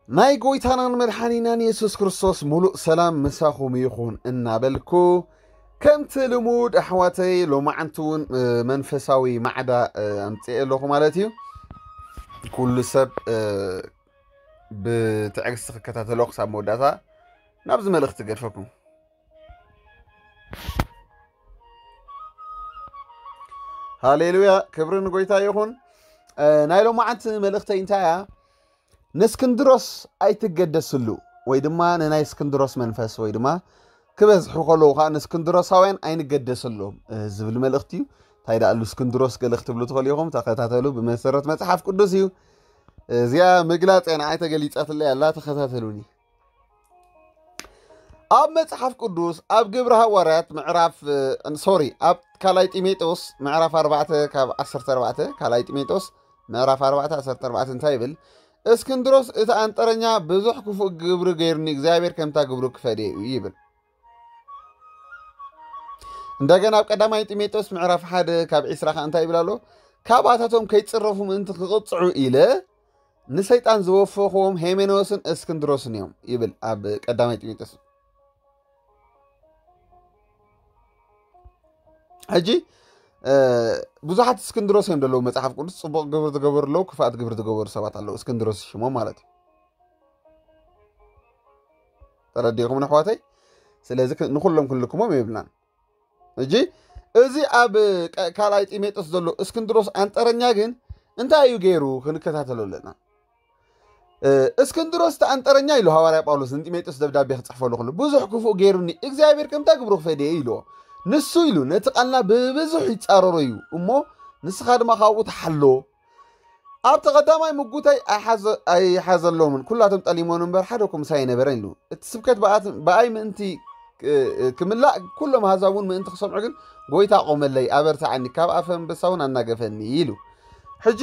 ናይ ጎይታናን መድሓኒናን የሱስ ክርስቶስ ሙሉእ ሰላም ምሳኹም ይኹን እናበልኩ፣ ከምቲ ልሙድ ኣሕዋተይ፣ ሎማዓንቲ እውን መንፈሳዊ ማዕዳ ኣምፅኤ ኣለኹ ማለት እዩ። ኩሉ ሰብ ብትዕግስቲ ክከታተሎ ክሳብ መወዳእታ ናብዚ መልእኽቲ ገድፈኩም። ሃሌሉያ፣ ክብሪ ንጎይታ ይኹን። ናይ ሎማዓንቲ መልእኽተይ እንታይ እያ? ንእስክንድሮስ ኣይትገደስሉ፣ ወይ ድማ ንናይ እስክንድሮስ መንፈስ፣ ወይ ድማ ክበዝሑ ከለዉ ከዓ ንእስክንድሮሳውያን ኣይንገደሰሎም ዝብል መልእኽቲ እዩ። እንታይ ደኣሉ እስክንድሮስ ገለ ክትብሉ ትኽእሉ ኢኹም። ተኸታተሉ፣ ብመሰረት መጽሓፍ ቅዱስ እዩ። እዚኣ ምግላጽ እያ ንዓይ ተገሊጻትለይ ኣላ፣ ተኸታተሉኒ። ኣብ መጽሓፍ ቅዱስ ኣብ ግብሪ ሃዋርያት ምዕራፍ ሶሪ ኣብ ካልኣይ ጢሞቴዎስ ምዕራፍ ኣርባዕተ ካብ ዓሰርተ ኣርባዕተ፣ ካልኣይ ጢሞቴዎስ ምዕራፍ ኣርባዕተ ዓሰርተ ኣርባዕተ እንታይ ይብል? እስክንድሮስ እቲ ኣንጠረኛ ብዙሕ ክፉእ ግብሪ ገይሩኒ፣ እግዚኣብሔር ከምታ ግብሩ ክፈድየ እዩ ይብል። እንደገና ኣብ ቀዳማይ ጢሞቴዎስ ምዕራፍ ሓደ ካብ ዒስራ ከዓ እንታይ ይብል ኣሎ? ካባታቶም ከይጽረፉ ምእንቲ ክቕጽዑ ኢለ ንሰይጣን ዝወፈኽዎም ሄሜኖስን እስክንድሮስን እዮም ይብል ኣብ ቀዳማይ ጢሞቴዎስ። ሕጂ ብዙሓት እስክንድሮስ እዮም ዘለዉ መጽሓፍ ቅዱስ። ጽቡቕ ግብሪ ዝገበሩ ኣለዉ፣ ክፋኣት ግብሪ ዝገበሩ ሰባት ኣለዉ፣ እስክንድሮስ ሽሞም ማለት እዩ። ተረዲኹም ኣሕዋተይ? ስለዚ ንኩሎም ክንልክሞም የብልናን። እጂ እዚ ኣብ ካልኣይ ጢሞቴዎስ ዘሎ እስክንድሮስ ኣንጠረኛ ግን እንታይ እዩ ገይሩ ክንከታተሎ ኣለና። እስክንድሮስ እቲ ኣንጠረኛ ኢሉ ሃዋርያ ጳውሎስ ንጢሞቴዎስ ደብዳቤ ክጽሕፈሉ ከሎ፣ ብዙሕ ክፉእ ገይሩኒ እግዚኣብሔር ከምታ ግብሩ ክፈድየ ኢልዎ። ንሱ ኢሉ ነቲ ቃልና ብብዙሕ ይጻረሮ እዩ እሞ፣ ንስኻ ድማ ካብኡ ተሓሎ። ኣብቲ ቀዳማይ ምጉተይ ኣይሓዘ- ኣይሓዘሎምን፣ ኩላቶም ጠሊሞን እምበር ሓደ እኮ ምሳይ ኣይነበረን ኢሉ። እቲ ስብከት ብኣት- ብኣይ ምእንቲ እ- እ- ክምላእ፣ ኩሎም ኣህዛብ እውን ምእንቲ ክሰምዑ ግን ጎይታ ቆመለይ፣ ኣበርትዓኒ፣ ካብ ኣፈ ኣንበሳ እውን ኣናገፈኒ ኢሉ። ሕጂ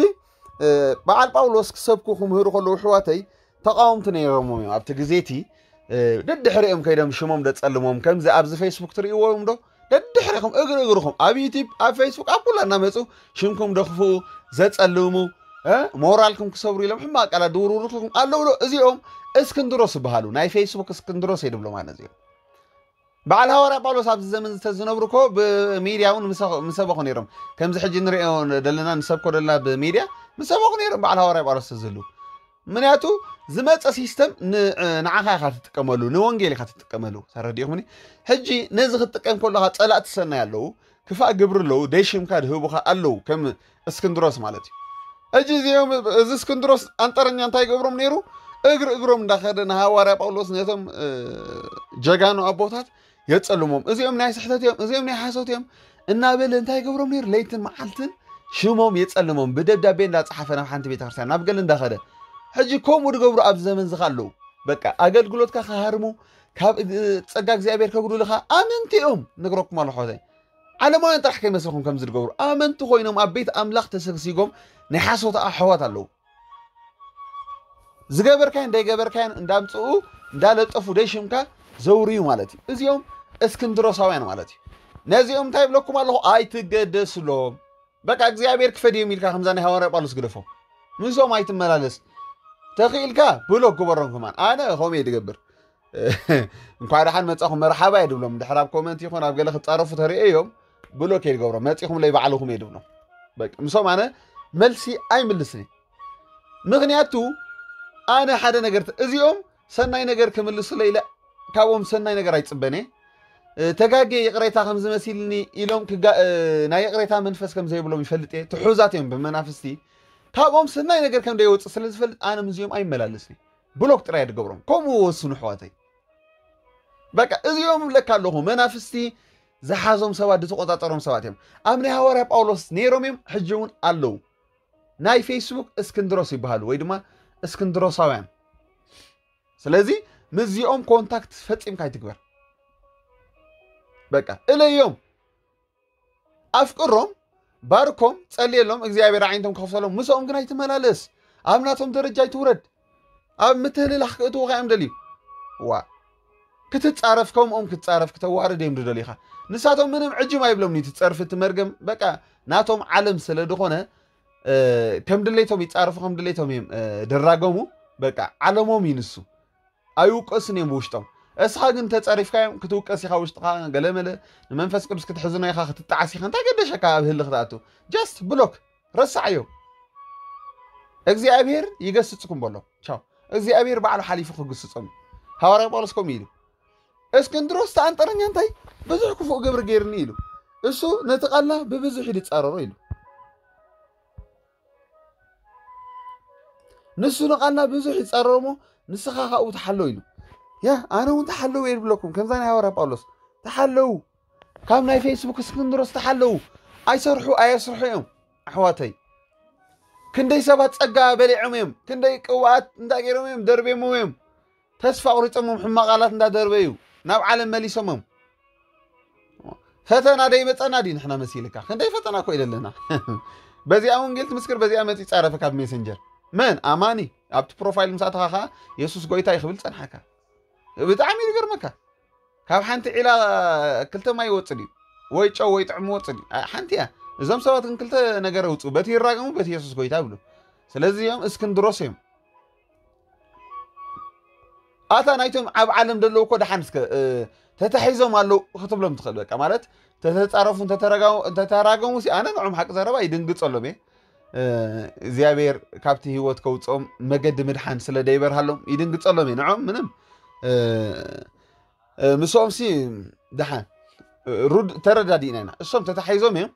እ፣ በዓል ጳውሎስ ክሰብኩ ክምህሩ ከለዉ ኣሕዋተይ ተቃወምቲ ነይሮምዎም እዮም ኣብቲ ግዜ እቲ። ደድሕሪኦም ከይዶም ሽሞም ደጸልሞም፣ ከምዚ ኣብዚ ፌስቡክ ትርእይዎም ዶ? ደድሕሪኹም እግሪ እግርኹም ኣብ ዩቲብ ኣብ ፌስቡክ ኣብ ኩላ እናመጹ ሽምኩም ደኽፍኡ፣ ዘጸልሙ፣ ሞራልኩም ክሰብሩ ኢሎም ሕማቅ ቃላት ድውርውርኩም ኣለዉ ዶ? እዚኦም እስክንድሮስ ይበሃሉ፣ ናይ ፌስቡክ እስክንድሮስ እየ ድብሎም ኣነ እዚኦም። በዓል ሃዋርያ ጳውሎስ ኣብዚ ዘመን ዝተዝነብሩ እኮ ብሚድያ እውን ምሰ- ምሰበኹ ነይሮም። ከምዚ ሕጂ ንሪኦ ደለና ንሰብኮ ደለና ብሚድያ ምሰበኹ ነይሮም በዓል ሃዋርያ ጳውሎስ ተዝህሉ። ምክንያቱ ዝመፀ ሲስተም ን- ንዓኻ ኢኻ ትጥቀመሉ፣ ንወንጌል ኢኻ ትጥቀመሉ። ተረዲእኹምኒ? ሕጂ ነዚ ክትጥቀም ከለኻ ፀላእቲ ሰናይ ኣለዉ፣ ክፋእ ግብሪ ኣለዉ፣ ደይ ሽምካ ድህቡኻ ኣለዉ፣ ከም እስክንድሮስ ማለት እዩ። እጂ እዚኦም እዚ እስክንድሮስ ኣንጠረኛ እንታይ ይገብሮም ነይሩ? እግሪ እግሮም እንዳኸደ ንሃዋርያ ጳውሎስ ነቶም ጀጋኑ ኣቦታት የጸልሞም። እዚኦም ናይ ስሕተት እዮም፣ እዚኦም ናይ ሓሶት እዮም እናበለ እንታይ ይገብሮም ነይሩ? ለይትን መዓልትን ሽሞም የጸልሞም፣ ብደብዳቤ እንዳጸሓፈ ናብ ሓንቲ ቤተክርስትያን ናብ ገለ እንዳኸደ። ሕጂ ከምኡ ዝገብሩ ኣብዚ ዘመን ዝኻ ኣለዉ። በቃ ኣገልግሎትካ ክሃርሙ፣ ካብ ጸጋ እግዚኣብሔር ከጉድልኻ ኣመንቲ እዮም። ነግረኩም ኣለኹ ሖዘይ፣ ዓለማውያን ጥራሕ ከይመስልኩም ከምዚ ዝገብሩ ኣመንቲ ኮይኖም ኣብ ቤት ኣምላኽ ተሰግሲጎም ናይ ሓሶት ኣሕዋት ኣለዉ። ዝገበርካዮን ደይገበርካዮን እንዳምፅኡ እንዳለጠፉ ደይ ሽምካ ዘውርዩ ማለት እዩ። እዚኦም እስክንድሮሳውያን ማለት እዩ። ነዚኦም እንታይ ይብለኩም ኣለኹ? ኣይትገደስሎም። በቃ እግዚኣብሔር ክፈድዮም ኢልካ ከምዛ ናይ ሃዋርያ ጳውሎስ ግደፎም። ምስኦም ኣይትመላለስ። ተኽኢልካ ብሎክ ግበሮም። ከማን ኣነ ከምኡ እየ ዝገብር። እንኳዕ ደሓን መጻኹም መርሓባ እየ ድብሎም። ድሕር ኣብ ኮመንት ይኹን ኣብ ገለ ክጻረፉ ተርእየ እዮም ብሎክ እየ ዝገብሮም። መጺኹምለይ ባዕልኹም እየ ድብሎም። በቃ ምስኦም ኣነ መልሲ ኣይምልስን እየ። ምኽንያቱ ኣነ ሓደ ነገር ተ- እዚኦም ሰናይ ነገር ክምልሱለይ ኢለ ካብኦም ሰናይ ነገር ኣይጽበን እየ። ተጋጌ ይቕሬታ ከም ዝመሲልኒ ኢሎም ክጋ- ናይ ይቕሬታ መንፈስ ከም ዘይብሎም ይፈልጥ እየ። ትሑዛት እዮም ብመናፍስቲ። ካብኦም ሰናይ ነገር ከም ዘይወጽእ ስለ ዝፈልጥ ኣነ ምስዚኦም ኣይመላለስን እየ። ብሎክ ጥራይ ድገብሮም። ከምኡ ወስኑ ኣሕዋተይ። በቃ እዚኦም እብለካ ኣለኹ መናፍስቲ ዝሓዞም ሰባት፣ ዝተቆጻጸሮም ሰባት እዮም። ኣብ ናይ ሃዋርያ ጳውሎስ ነይሮም እዮም፣ ሕጂ እውን ኣለዉ። ናይ ፌስቡክ እስክንድሮስ ይበሃሉ ወይ ድማ እስክንድሮሳውያን። ስለዚ ምስዚኦም ኮንታክት ፈጺምካ ኣይትግበር። በቃ እለዮም። ኣፍቅሮም፣ ባርኮም፣ ጸልየሎም እግዚኣብሔር ኣዒንቶም ክኸፍተሎም። ምስኦም ግን ኣይትመላለስ። ኣብ ናቶም ደረጃ ኣይትውረድ። ኣብ ምትህልላኽ ክእትዉኻ እዮም ደልዩ። ዋ ክትጻረፍ ከምኦም ክትጻረፍ ክተዋርድ እዮም ድደልዩኻ። ንሳቶም ምንም ዕጅም ኣይብሎም እቲ ጸርፊ እቲ መርገም በቃ ናቶም ዓለም ስለ ዝኾነ ከም ድሌቶም ይጻረፉ ከም ድሌቶም እዮም ድራገሙ። በቃ ዓለሞም እዩ ንሱ። ኣይውቀሱን እዮም ብውሽጦም። እስኻ ግን ተጸሪፍካዮም ክትውቀስ ኢኻ ውሽጥኻ ገለመለ፣ ንመንፈስ ቅዱስ ክትሕዝኖ ኢኻ ክትጣዓስ ኢኻ። እንታይ ገደሸካ ኣብ ህሊ ክትኣቱ? ጃስት ብሎክ ረሳዓዮ። እግዚኣብሔር ይገስጽኩም በሎ። ቻው። እግዚኣብሔር ባዕሉ ሓሊፉ ክግስጾም እዩ። ሃዋርያ ጳውሎስ ከምኡ ኢሉ። እስክንድሮስ ተኣንጠረኛ እንታይ ብዙሕ ክፉእ ግብሪ ገይርኒ ኢሉ። እሱ ነቲ ቃልና ብብዙሕ ይጻረሮ ኢሉ። ንሱ ንቓልና ብዙሕ ይጻረሮ እሞ ንስኻ ካብኡ ተሓለው ኢሉ። ያ ኣነ እውን ተሓለው እየ ዝብለኩም ከምዛ ናይ ሃዋርያ ጳውሎስ ተሓለው። ካብ ናይ ፌስቡክ እስክንድሮስ ተሓለው። ኣይሰርሑ ኣየስርሑ እዮም ኣሕዋተይ። ክንደይ ሰባት ጸጋ በሊዖም እዮም። ክንደይ ቅብኣት እንታይ ገይሮም እዮም ደርቤሞ እዮም። ተስፋ ቁሪጾሞም ሕማቕ ቃላት እንዳደርበዩ ናብ ዓለም መሊሶሞም። ፈተና ደይመጸና ድዩ ንሕና መሲልካ? ክንደይ ፈተና እኮ ኢለለና። በዚኣ ወንጌል ትምስክር፣ በዚኣ መጺ ጻረፈካ ኣብ ሜሰንጀር። መን ኣማኒ ኣብቲ ፕሮፋይል ምስ ኣተኻ ከኣ የሱስ ጎይታ እዩ ክብል ጸንሓካ። ብጣዕሚ እዩ ዝገርመካ። ካብ ሓንቲ ዒላ ክልተ ማይ ይወጽእ ድዩ? ወይ ጨው ወይ ጥዕሚ ይወጽእ ድዩ? ሓንቲ እያ። እዞም ሰባት ግን ክልተ ነገር ኣውጽኡ፣ በቲ ይራገሙ፣ በቲ የሱስ ጎይታ ይብሉ። ስለዚ እዮም እስክንድሮስ እዮም። ኣታ ናይቶም ኣብ ዓለም ዘለዉ እኮ ደሓን እስከ ተታሒዞም ኣለዉ ክትብሎም ትኽእል። በቃ ማለት ተተጻረፉ እንተተራገሙ ሲ ኣነ ንዖም ሓቂ ዘረባ ይድንግጸሎም እየ። እግዚኣብሔር ካብቲ ህይወት ከውፅኦም መገዲ ምድሓን ስለ ደይበርሃሎም ይድንግጸሎም እየ። ንዖም ምንም ምስኦም ሲ ደሓን ሩድ ተረዳዲእና ኢና። እሶም ተታሒዞም እዮም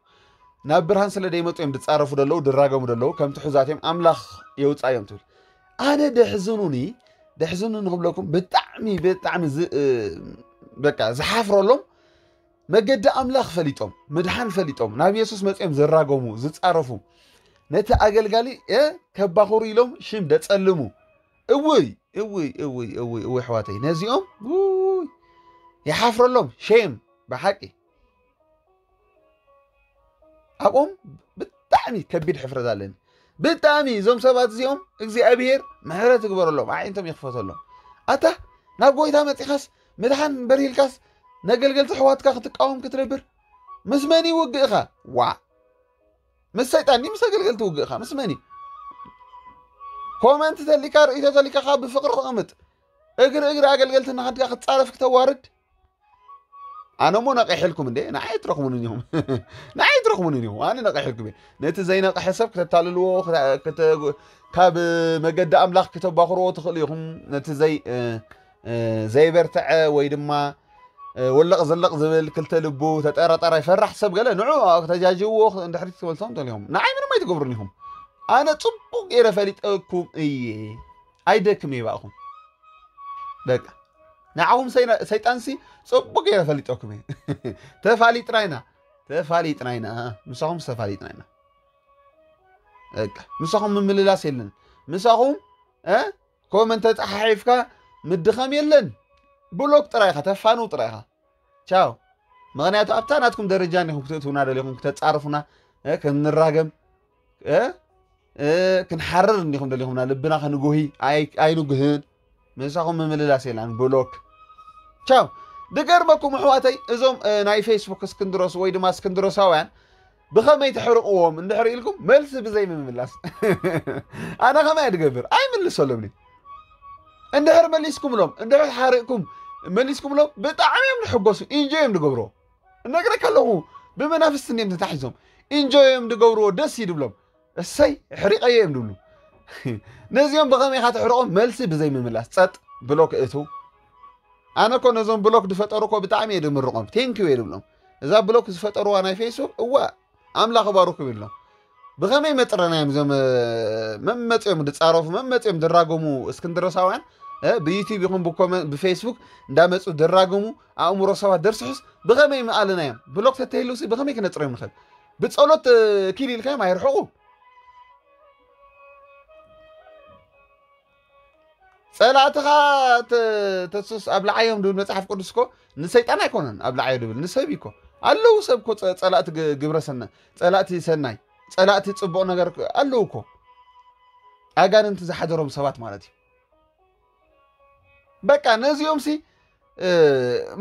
ናብ ብርሃን ስለ ደይመፁ እዮም ድፃረፉ ደለዉ ድራገሙ ደለዉ ከም ትሑዛት እዮም ኣምላኽ የውፃዮም ትብል። ኣነ ደሕዝኑኒ ደሕዝኑኒ ክብለኩም ብጣዕሚ ብጣዕሚ በቃ ዝሓፍረሎም መገዲ ኣምላኽ ፈሊጦም ምድሓን ፈሊጦም ናብ የሱስ መፅኦም ዝራገሙ ዝፃረፉ ነቲ ኣገልጋሊ ከባኽሩ ኢሎም ሽም ደፀልሙ። እውይ እውይ እውይ እውይ እውይ ኣሕዋተይ ነዚኦም ውይ ይሓፍረሎም ሼም ብሓቂ ኣብኦም ብጣዕሚ ከቢድ ሕፍረት ኣለኒ። ብጣዕሚ እዞም ሰባት እዚኦም እግዚኣብሔር ምሕረት ይግበረሎም ኣዒንቶም ይኽፈተሎም። ኣታ ናብ ጎይታ መፂኻስ ምድሓን በርሂልካስ ነገልገልቲ ኣሕዋትካ ክትቃወም ክትነብር ምስ መን እዩ ውግእኻ? ዋ ምስ ሰይጣን ድዩ ምስ ኣገልገልቲ ውግእኻ ምስ መን እዩ? ኮመንት ተሊካ ርእይቶ ተሊካ ካብ ብፍቅሪ ክቕምጥ እግሪ እግሪ ኣገልገልቲ እናኸድካ ክትፃረፍ ክተዋርድ ኣነ እሞ ነቂሕልኩም እንዴ ንዓይ ትረኽሙን እኒኹም ንዓይ ትረኽሙን እኒኹም ኣነ ነቂሕልኩም እየ ነቲ ዘይነቅሐ ሰብ ክተታልልዎ ካብ መገዲ ኣምላኽ ክተባኽርዎ ትኽእሉ ኢኹም ነቲ ዘይ ዘይበርትዐ ወይ ድማ ወለቕ ዘለቕ ዝብል ክልተ ልቡ ተጠራጠራይ ፈራሕ ሰብ ገለ ንዑ ተጃጅብዎ እንድሕሪ ትበልቶም ተሊኹም ንዓይ ምንም ኣይትገብሩን ኢኹም ኣነ ፅቡቅ ገይረ ፈሊጠኩም እየ ኣይደክም እየ ባእኹም በቃ ንዓኹም ሰይጣንሲ ፅቡቅ ገይረ ፈሊጠኩም እየ ተፋሊጥና ኢና ተፋሊጥና ኢና ምሳኹም ተፋሊጥና ኢና ምሳኹም ምምልላስ የለን ምሳኹም ኮመንት ተፃሓሒፍካ ምድኸም የለን ብሎክ ጥራይ ኢኻ ተፋንው ጥራይ ኢኻ ቻው ምኽንያቱ ኣብታ ናትኩም ደረጃ እንዲኹም ክትእትውና ደሊኹም ክተፃርፉና ክንራገም ክንሓርር እንዲኹም ደሊኹምና ልብና ክንጉሂ ኣይንጉህን ምሳኹም ምምልላስ የላን ብሎክ ቻው ድገርመኩም ኣሕዋተይ እዞም ናይ ፌስቡክ እስክንድሮስ ወይ ድማ እስክንድሮሳውያን ብኸመይ ተሕርቕዎም እንድሕር ኢልኩም መልሲ ብዘይ ምምላስ ኣነ ከማይ ድገብር ኣይምልሰሎም እንድሕር መሊስኩምሎም እንድሕር ሓሪቕኩም መሊስኩምሎም ብጣዕሚ እዮም ዝሕጎሱ ኢንጆ እዮም ዝገብርዎ እነግረካ ኣለኹ ብመናፍስቲ እንዲዮም ተታሒዞም ኢንጆ እዮም ዝገብርዎ ደስ ይድብሎም እሰይ ሕሪቐዮ እዮም ዝብሉ ነዚኦም ብኸመይ ኢኻ ተሕርቖም መልሲ ብዘይ ምምላስ ጸጥ ብሎ ክእቱ ኣነ እኮ ነዞም ብሎክ ዝፈጠሩ እኮ ብጣዕሚ እየ ድምርቖም ቴንኪዩ እየ ድብሎም እዛ ብሎክ ዝፈጠርዋ ናይ ፌስቡክ እዋ ኣምላኽ ባሩኩም ይብሎም ብኸመይ መጥረናዮም እዞም መመፅኦም ድፃረፉ መመፅኦም ድራገሙ እስክንድሮሳውያን ብዩቲብ ይኹን ብፌስቡክ እንዳመፁ ድራገሙ ኣእምሮ ሰባት ደርስሑስ ብኸመይ ምኣለናዮም ብሎክ ተተሂሉሲ ብኸመይ ክነፅርዮም ንኽእል ብፀሎት ኪል ኢልካዮም ኣይርሕቑ ጸላእትኻ ተሱስ ኣብልዓዮም ድብል መጽሓፍ ቅዱስ እኮ ንሰይጣን ኣይኮነን ኣብልዓዮ ድብል ንሰብ እኮ ኣለዉ ሰብ እኮ ጸላእቲ ግብረ ሰናይ ጸላእቲ ሰናይ ጸላእቲ ጽቡቕ ነገር ኣለዉ እኮ ኣጋንንቲ ዝሓደሮም ሰባት ማለት እዩ በቃ ነዚኦም ሲ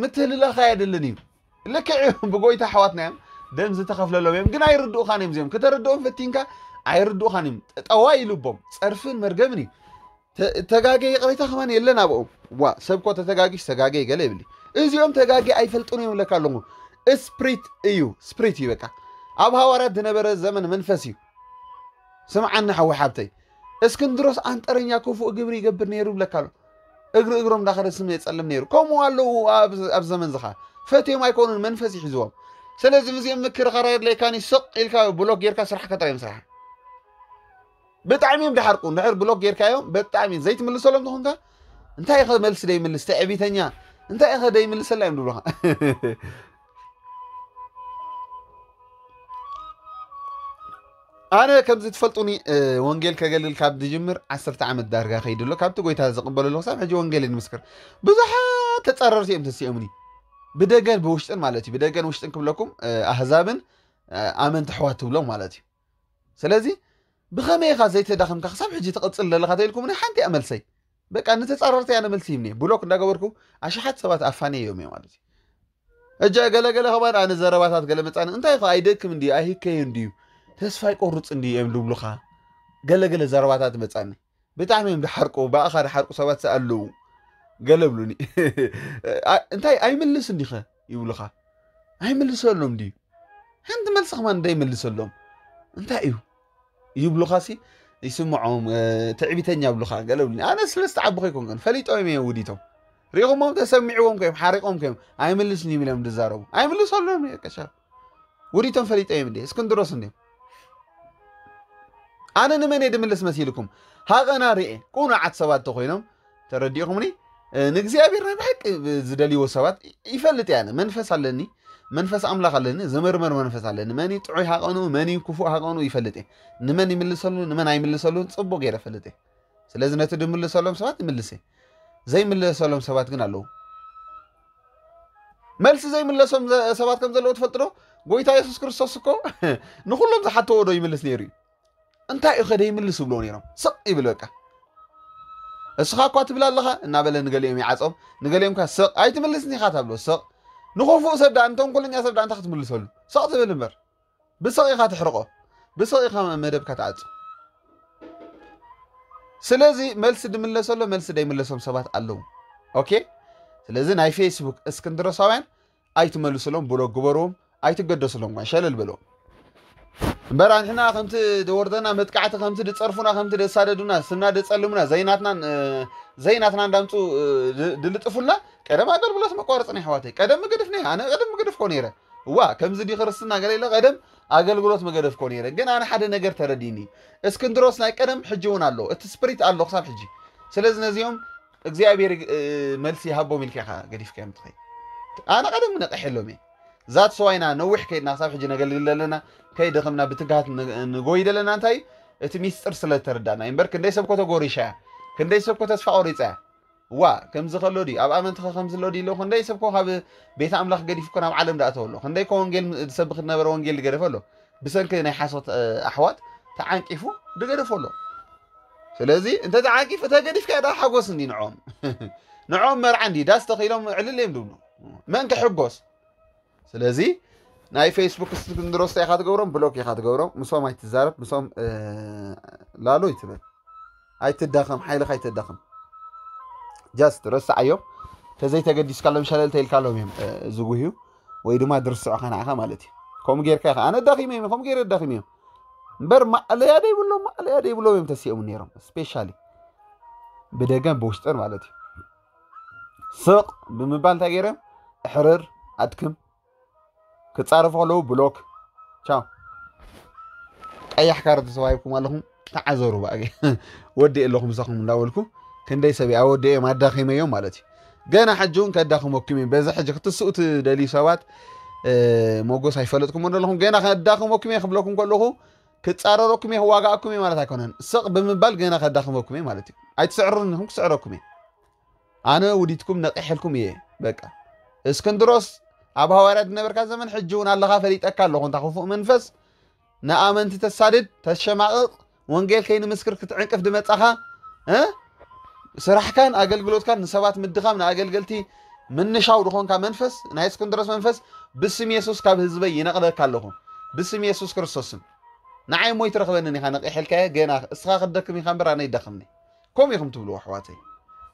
ምትህልላኽ ኣየድልን እዩ ልክዕ እዮም ብጎይታ ኣሕዋትና እዮም ደም ዝተኸፍለሎም እዮም ግን ኣይርድኡኻን እዮም እዚኦም ክተረድኦም ፈቲንካ ኣይርድኡኻን እዮም ጠዋይ ልቦም ጸርፍን መርገምን እዩ ተጋጌ ይቕሬታ ከማን የለን ኣብኦም። ዋ ሰብ ኮ ተተጋጊሽ ተጋጌ ገለ ይብል። እዚኦም ተጋጌ ኣይፈልጡን እዮም ለካ ኣለኹ። ስፕሪት እዩ፣ ስፕሪት እዩ በቃ። ኣብ ሃዋርያት ዝነበረ ዘመን መንፈስ እዩ። ስምዓኒ ሓዊ ሓብተይ፣ እስክንድሮስ ኣንጠረኛ ክፉእ ግብሪ ይገብር ነይሩ ይብለካ ኣሎ። እግሪ እግሮም እንዳኸደ ስም የጸልም ነይሩ። ከምኡ ኣለዉ ኣብ ዘመን ዝኻ ፈትዮም ኣይኮኑን፣ መንፈስ ይሕዝዎም። ስለዚ ምስኦም ምክርኻር የድለየካን እዩ። ስቕ ኢልካ ብሎክ ጌርካ ስራሕካ ጥራይ ምስራሕ። ብጣዕሚ እዮም ድሓርቁ። እንድሕር ብሎክ ጌርካዮም ብጣዕሚ ዘይትምልሰሎም ተኾንካ፣ እንታይ ኢኸ መልሲ ደይምልስ ትዕቢተኛ፣ እንታይ ኢኸ ደይምልሰላ እዮም ድብሉኻ። ኣነ ከምዚ ትፈልጡኒ፣ ወንጌል ከገልግል ካብ ዝጅምር ዓሰርተ ዓመት ዳርጋ ከይዱ ኣሎ። ካብቲ ጎይታ ዝቕበለሉ ክሳብ ሕጂ ወንጌል ይምስክር። ብዙሓት ተጻረርቲ እዮም ተሲኦምኒ፣ ብደገን ብውሽጥን ማለት እዩ። ብደገን ውሽጥን ክብለኩም ኣህዛብን ኣመንቲ ኣሕዋት ትብሎም ማለት እዩ። ስለዚ ብኸመይ ኢኻ ዘይተዳኽምካ ክሳብ ሕጂ ትቕጽል ዘለኻ ተኢልኩምኒ ሓንቲ እያ መልሰይ። በቃ ንተጻረርቲ ኣነ መልሲ ይምኒ ብሎክ እንዳገበርኩ ኣሽሓት ሰባት ኣፋንየዮም እየ ማለት እዩ። እጃ ገለገለ ከማን ኣነ ዘረባታት ገለ መጻኒ እንታይ ኢኻ ኣይደክም እንድዩ ኣይህከዩ እንድዩ ተስፋ ይቆርጽ እንድዩ እዮም ዝብሉኻ። ገለገለ ዘረባታት መጻኒ ብጣዕሚ እዮም ድሓርቁ፣ ብኣኻ ድሓርቁ ሰባት ኣለዉ። ገለ ብሉኒ እንታይ ኣይምልስ እንዲኸ ይብሉኻ። ኣይምልሰሎም ድዩ ሓንቲ መልሲ ከማን እንዳይመልሰሎም እንታይ እዩ ይብሉኻሲ ይስምዖም። ትዕቢተኛ ብሉኻ ገለ ብሉኒ። ኣነ ስለ ዝተዓብኹ ኣይኮንኩን ፈሊጦም እዮም ውዲቶም ሪኹሞም ተሰሚዕዎም ከዮም ሓሪቆም ከዮም ኣይምልስን ይብሎም ዝዛረቡ ኣይምልሰሎም ቀሻ ውዲቶም ፈሊጦም እዮም እንዴ እስክንድሮስ እንዴ ኣነ ንመን እየ ድምልስ መሲልኩም ሃቐና ርኤ ቅኑዓት ሰባት ተኮይኖም ተረዲእኹምኒ ንእግዚኣብሔር ናይ ብሓቂ ዝደልይዎ ሰባት ይፈልጥ እያ መንፈስ ኣለኒ መንፈስ ኣምላኽ ኣለኒ ዝምርምር መንፈስ ኣለኒ መን ጥዑይ ሃቐኑ መን ክፉእ ሃቐኑ ይፈልጥ እየ ንመን ይምልሰሉ ንመን ኣይምልሰሉን ፅቡቅ ገይረ ፈልጥ እየ ስለዚ ነቲ ድምልሰሎም ሰባት ይምልስ እየ ዘይምልሰሎም ሰባት ግን ኣለዉ መልሲ ዘይምለሶም ሰባት ከም ዘለዉ ትፈልጥ ዶ ጎይታ የሱስ ክርስቶስ እኮ ንኩሎም ዝሓተዎ ዶ ይምልስ ነይሩ እዩ እንታይ እዩ ከደ ይምልስ ይብልዎ ነይሮም ስቕ ይብል በቃ እስኻ እኳ ትብል ኣለኻ እናበለ ንገሊኦም ይዓፆም ንገሊኦም ካ ስቕ ኣይትምልስኒ ኢኻ ታብሎ ስቕ ንኽፉእ ሰብ ዳ ንተንኮለኛ ሰብ ዳ እንታይ ክትምልሰሉ ስቕ ትብል እምበር ብስቕ ኢኻ ትሕርቆ ብስቕ ኢኻ መደብካ ትዓፁ ስለዚ መልሲ ድምለሰሎ መልሲ ደይምለሶም ሰባት ኣለዉ ኦኬ ስለዚ ናይ ፌስቡክ እስክንድሮሳውያን ኣይትመልስሎም ብሎ ግበርዎም ኣይትገደስሎም ኳ ሸለል በልዎም እምበር ኣንሕና ከምቲ ደወርደና መጥቃዕቲ ከምቲ ድፀርፉና ከምቲ ደሳደዱና ስምና ደፀልሙና ዘይናትና ዘይናትና እንዳምፁ ድልጥፉልና ቀደም ኣገልግሎት መቋረፂ ናይ ኣሕዋተይ ቀደም ምግድፍ ነ ኣነ ቀደም ምግድፍ ኮ ነይረ እዋ ከምዚ ዲ ክርስትና ገለ ኢለ ቀደም ኣገልግሎት መገደፍኮ ነይረ ግን ኣነ ሓደ ነገር ተረዲኒ እስክንድሮስ ናይ ቀደም ሕጂ እውን ኣሎ እቲ ስፕሪት ኣሎ ክሳብ ሕጂ ስለዚ ነዚኦም እግዚኣብሔር መልሲ ይሃቦም ኢልካ ኢኻ ገዲፍካዮም ትኸይ ኣነ ቀደም ነቀሐሎም እየ ዛት ሰዋይና ነዊሕ ከይድና ክሳብ ሕጂ ነገልግል ዘለና ከይደኸምና ብትግሃት ንጎይ ዘለና እንታይ እቲ ሚስጥር ስለ ተረዳና እምበር ክንደይ ሰብ ኮተጎሪሻ እያ ክንደይ ሰብ ኮተስፋ ቆሪፃ እያ ዋ ከምዚ ከሎ ድዩ ኣብ ኣመንትኸ ከምዚ ኣሎ ድዩ ኣለኹ ክንደይ ሰብ ኮ ካብ ቤተ ኣምላኽ ገዲፉ ኮ ናብ ዓለም ዳእተው ኣሎ ክንደይ ኮ ወንጌል ዝሰብኽ ዝነበረ ወንጌል ዝገደፈ ኣሎ ብሰንኪ ናይ ሓሶት ኣሕዋት ተዓንቂፉ ዝገደፎ ኣሎ ስለዚ እንተ ተዓንቂፉ ተገዲፍካ ዳ ሓጎስ እንዲ ንዖም ንዖም መርዓ እንዲ ዳስ ተኺሎም ዕልል እዮም ድብሉ መን ክሕጎስ ስለዚ ናይ ፌስቡክ እስክንድሮስ ኢኻ ትገብሮም ብሎክ ኢኻ ትገብሮም ምሶም ኣይትዛረብ ምሶም ላሎ ይትበል ኣይትዳኸም ሓይልኻ ኣይትዳኸም ጃስት ረስዓዮም ተዘይተገዲስካሎም ሸለል ተይልካሎም እዮም ዝጉህዩ ወይ ድማ ድርስዑኻ ንዓኻ ማለት እዩ ከምኡ ጌርካ ኢኻ ኣነ ዳኺመ እዮም ከምኡ ገይረ ዳኺመ እዮም እምበር ማዕለያ ደይብሎም ማዕለያ ደይብሎም እዮም ተሲኦም ነይሮም ስፔሻሊ ብደገን ብውሽጥን ማለት እዩ ስቕ ብምባል እንታይ ገይሮም እሕርር ኣድክም ክጻረፉ ከለዉ ብሎክ ቻው ቀያሕ ካርድ ተዋሂብኩም ኣለኹም ተዓዘሩ ባእገ ወዲ ኣለኹ ምሳኹም እንዳበልኩ ክንደይ ሰብ ኣወዲኦም ኣዳኺመዮም ማለት እዩ ገና ሕጂ እውን ከዳኽመኩም እዩ በዚ ሕጂ ክትስኡ ትደልዩ ሰባት ሞጎስ ኣይፈለጥኩም ኣለኹም ገና ከዳኽመኩም እየ ክብለኩም ከለኹ ክጻረረኩም እየ ክዋጋእኩም እየ ማለት ኣይኮነን ስቕ ብምባል ገና ከዳኽመኩም እየ ማለት እዩ ኣይትስዕሩን ኢኹም ክስዕረኩም እየ ኣነ ውዲትኩም ነቒሐልኩም እየ በቃ እስክንድሮስ ኣብ ሃዋርያት ዝነበርካ ዘመን ሕጂ እውን ኣለኻ ፈሊጠካ ኣለኹ እንታ ክፉእ መንፈስ ንኣመንቲ ተሳድድ ተሸማቕቕ ወንጌል ከይንምስክር ክትዕንቅፍ ድመጻኻ ስራሕካን ኣገልግሎትካን ንሰባት ምድኻም ንኣገልገልቲ ምንሻው ዝኾንካ መንፈስ ናይ እስክንድሮስ መንፈስ ብስም የሱስ ካብ ህዝበይ ይነቕለካ ኣለኹ ብስም የሱስ ክርስቶስም ንዓይ ሞይ ትረኽበንን ኢኻ ነቒሐልካየ ገና እስኻ ክትደክም ኢኻ እምበር ኣነ ይደኽምኒ ከምኡ ኢኹም ትብልዎ ኣሕዋተይ።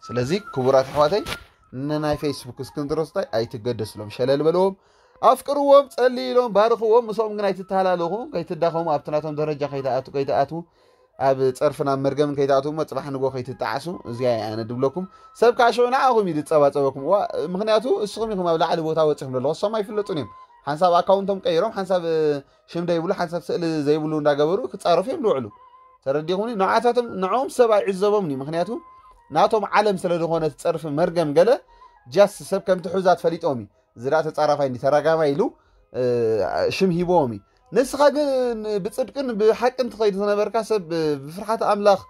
ስለዚ ክቡራት ኣሕዋተይ፣ ንናይ ፌስቡክ እስክንድሮስታይ ኣይትገደስሎም፣ ሸለል በልዎም፣ ኣፍቅርዎም፣ ጸልይሎም፣ ባርኽዎም። ምስኦም ግን ኣይትተሃላለኹ፣ ከይትዳኸሙ፣ ኣብቲ ናቶም ደረጃ ከይትኣቱ ከይትኣትዉ፣ ኣብ ጸርፍን ኣብ መርገምን ከይትኣትዉ፣ እሞ ጽባሕ ንጎ ከይትጣዓሱ። እዚኣ እየ ኣነ ድብለኩም። ሰብ ከዓ ሽዑ ንዓኹም እዩ ዝጸባጸበኩም። ዋ፣ ምኽንያቱ እስኹም ኢኹም ኣብ ላዕሊ ቦታ ወጺኹም ዘለኹም፣ እሶም ኣይፍለጡን እዮም። ሓንሳብ ኣካውንቶም ቀይሮም፣ ሓንሳብ ሽም ዘይብሉ፣ ሓንሳብ ስእሊ ዘይብሉ እንዳገበሩ ክጻረፉ እዮም ዝውዕሉ። ተረዲኹምኒ? ንዓታቶም ንዕኦም ሰብ ኣይዕዘቦምን እዩ። ምኽንያቱ ናቶም ዓለም ስለ ዝኾነ እቲ ጸርፊ መርገም ገለ ጃስት ሰብ ከም ትሑዛት ፈሊጦም እዩ። እዚ ደኣ ተጻራፋይ እንዲ ተራጋማይ ኢሉ ሽም ሂቦም እዩ። ንስኻ ግን ብጽድቅን ብሓቅን ትኸይድ ዝነበርካ ሰብ፣ ብፍርሓት ኣምላኽ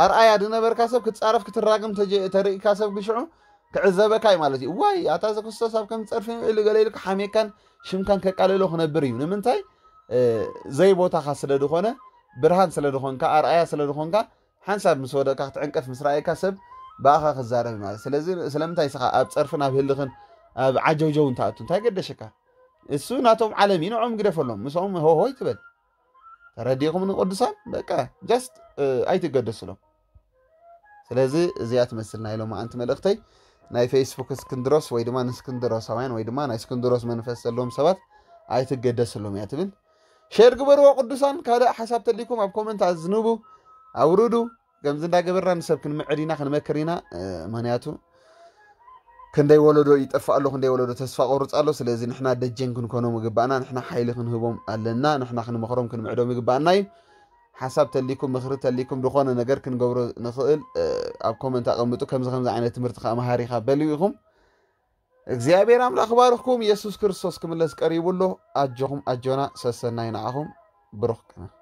ኣርኣያ ዝነበርካ ሰብ ክትጻረፍ ክትራግም ተሪእካ ሰብ ግሽዑ ክዕዘበካ እዩ ማለት እዩ። ዋይ ኣታ እዚ ክርስቶስ ኣብ ከም ጸርፊ ውዒሉ ገለ ኢልካ ሓሜካን ሽምካን ከቃልሎ ክነብር እዩ። ንምንታይ? ዘይቦታኻ ስለ ዝኾነ፣ ብርሃን ስለ ዝኾንካ፣ ኣርኣያ ስለ ዝኾንካ፣ ሓንሳብ ምስ ወደቅካ ክትዕንቀፍ ምስ ረኣየካ ሰብ ብኣኻ ክዛረብ ማለት። ስለዚ ስለምንታይ እስኻ ኣብ ጸርፍን ኣብ ህልኽን ኣብ ዓጀውጀውን ትኣቱ? እንታይ ገደሸካ? እሱ ናቶም ዓለም እዩ፣ ንዕኦም ግደፈሎም፣ ምስኦም ሆሆይ ትበል። ተረዲኹም ንቅዱሳን በቃ ጀስት ኣይትገደስሎም። ስለዚ እዚኣ ትመስል ናይ ሎማዓንቲ መልእኽተይ። ናይ ፌስቡክ እስክንድሮስ ወይ ድማ ንእስክንድሮሳውያን ወይ ድማ ናይ እስክንድሮስ መንፈስ ዘለዎም ሰባት ኣይትገደስሎም እያ ትብል። ሼር ግበርዎ ቅዱሳን። ካልእ ሓሳብ ተሊኩም ኣብ ኮመንት ኣዝንቡ፣ ኣውርዱ። ከምዚ እንዳገበርና ንሰብ ክንምዕድ ኢና፣ ክንመክር ኢና። ምክንያቱ ክንደይ ወለዶ ይጠፍእ ኣሎ፣ ክንደይ ወለዶ ተስፋ ቆርጽ ኣሎ። ስለዚ ንሕና ደጀን ክንኮኖም ይግባእና፣ ንሕና ሓይሊ ክንህቦም ኣለና፣ ንሕና ክንመኽሮም ክንምዕዶም ይግባእና እዩ። ሓሳብ ተሊኩም፣ ምኽሪ ተሊኩም፣ ዝኾነ ነገር ክንገብሮ ንኽእል ኣብ ኮመንት ኣቐምጡ። ከምዚ ከምዚ ዓይነት ትምህርቲ ከዓ መሃሪኻ በልዩ ኢኹም። እግዚኣብሔር ኣምላኽ ባርኽኩም። ኢየሱስ ክርስቶስ ክምለስ ቀሪቡ ኣሎ። ኣጆኹም ኣጆና፣ ሰሰናይ ንዓኹም። ብሩኽ ቅነ።